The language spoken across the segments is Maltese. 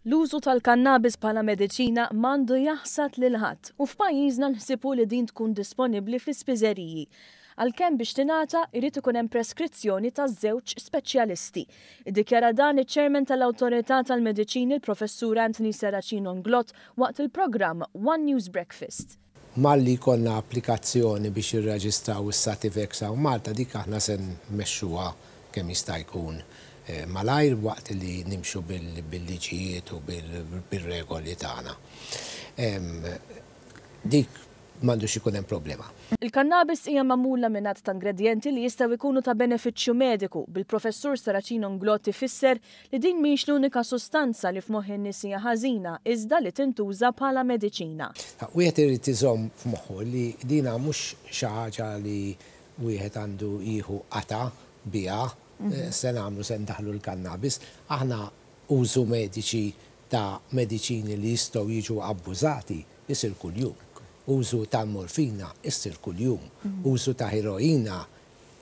L-użu tal-kannabis bħala mediċina m'għandu jaħsad lil ħadd u f'pajjiżna l-ħsieb hu li din tkun disponibbli fl-ispiżeriji. Għalkemm biex tingħata jrid ikun hemm preskrizzjoni ta' żewġ speċjalisti. Iddikjara dan iċ-Chairman tal-Awtorità tal-Mediċini l-Professur Anthony Serracino Inglott waqt il-programm One News Breakfast. Malli jkollna applikazzjoni biex jirreġistraw is-Sativex hawn Malta dik aħna se nmexxuha kemm jista' jkun malajr waqt li nimxu bil-liġijiet u bir-regoli tagħna. Dik m'għandux ikun hemm problema. Il-kannabis hija magħmula minn għadd ta' ingredjenti li jistgħu jkunu ta' benefiċċju mediku, bil-Professur Serracino Inglott ifisser li din mhix l-unika sustanza li f'moħħ in-nies hija ħażina iżda li tintuża bħala mediċina. Wieħed irid iżomm f'moħħu li dina mhux xi ħaġa li wieħed għandu jieħu qatgħa biha, se nagħmlu se ndaħħlu l-kannabis. Aħna użu mediċi ta' mediċini li jistgħu jiġu abbużati isir kuljum. Użu tal-morfina issir kuljum. Użu ta' heroina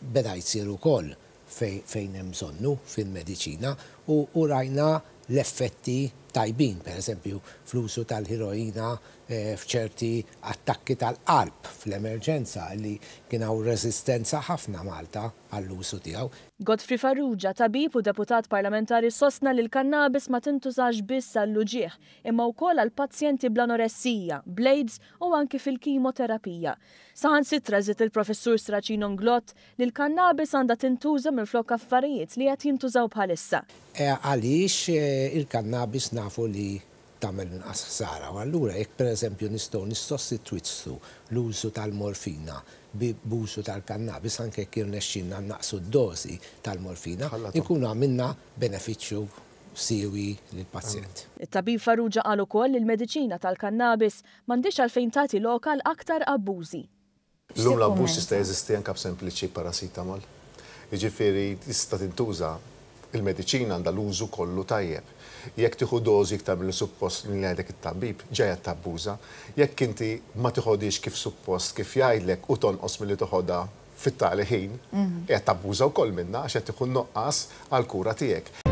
beda jsir ukoll fejn hemm bżonnu fil-mediċina u rajna l-effetti tajbin, pereżempju fl-użu tal-heroina f'ċerti attakki tal-qalb fl-emerġenza li kien hawn reżistenza ħafna Malta għall-użu tiegħu. Godfrey Farrugia, tabib u deputat parlamentari sostna li l-kannabis ma tintużax biss għall-uġigħ imma wkoll għal pazjenti bl-anoressija, bl-AIDS u anki fil-kimoterapija. Saħansitra żied il-Professur Serracino Inglott li l-kannabis għandha tintuża minflok affarijiet li qed jintużaw bħalissa. Għaliex il-kannabis nafu li tagħmel inqas ħsara u allura jekk pereżempju nistgħu nissostitwixxu l-użu tal-morfina b'użu tal-kannabis anke jekk jirnexxilna nnaqqsu d-dożi tal-morfina, inkunu għamilna benefiċċju siewi lill-pazjent. It-tabib Farrugia qal ukoll li l-mediċina tal-kannabis m'għandhiex għalfejn tagħti lok għal aktar abbużi. Illum l-abbuż jista' jeżisti anke b'sempliċi paracetamol. Jiġifieri tista' tintuża, il-mediċina għandha l-użu kollu tajjeb. Jekk tieħu dożi iktar milli suppost milli jgħidlek it-tabib, ġa qed tabbuża. Jekk inti ma tiħodhiex kif suppost kif jgħidlek u tonqos milli toħodha fit-tali ħin, qiegħed tabbuża wkoll minnha għax qed tieħu n-nuqqas għall-kura tiegħek.